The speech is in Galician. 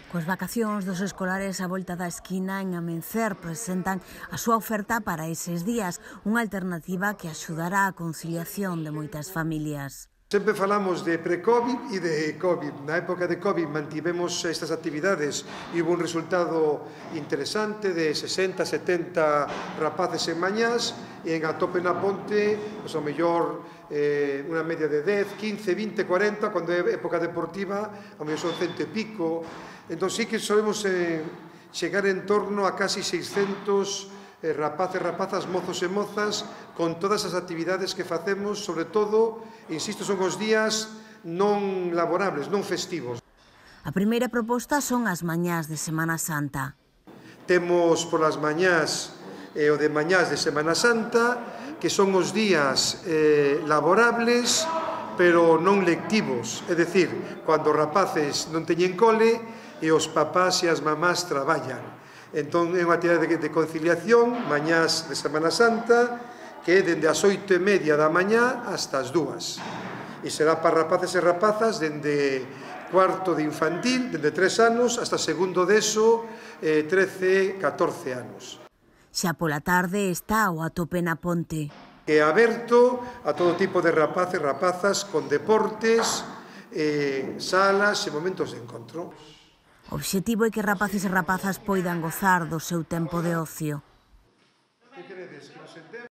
Coas vacacións dos escolares á volta da esquina, en Amencer presentan a súa oferta para eses días, unha alternativa que axudará á conciliación de moitas familias. Sempre falamos de pre-Covid e de Covid. Na época de Covid mantivemos estas actividades e hubo un resultado interesante de 60, 70 rapaces en mañás e en Atope na Ponte, pois ao mellor unha media de 10, 15, 20, 40, cando é época deportiva, ao mellor son 100 e pico. Entón sí que solemos chegar en torno a casi 600 rapaces, rapazas, mozos e mozas, con todas as actividades que facemos, sobre todo, insisto, son os días non laborables, non festivos. A primeira proposta son as mañás de Semana Santa. Temos polas mañás o de mañás de Semana Santa, que son os días laborables, pero non lectivos, é dicir, cando os rapaces non teñen cole e os papás e as mamás traballan. Entón, é unha actividade de conciliación, mañás de Semana Santa, que é dende as 8:30 da mañá hasta as 2. E será para rapaces e rapazas dende cuarto de infantil, dende 3 anos, hasta segundo de ESO, 13, 14 anos. Xa pola tarde está o Atope na Ponte. É aberto a todo tipo de rapaces e rapazas con deportes, salas e momentos de encontro. O obxectivo é que rapaces e rapazas poidan gozar do seu tempo de ocio.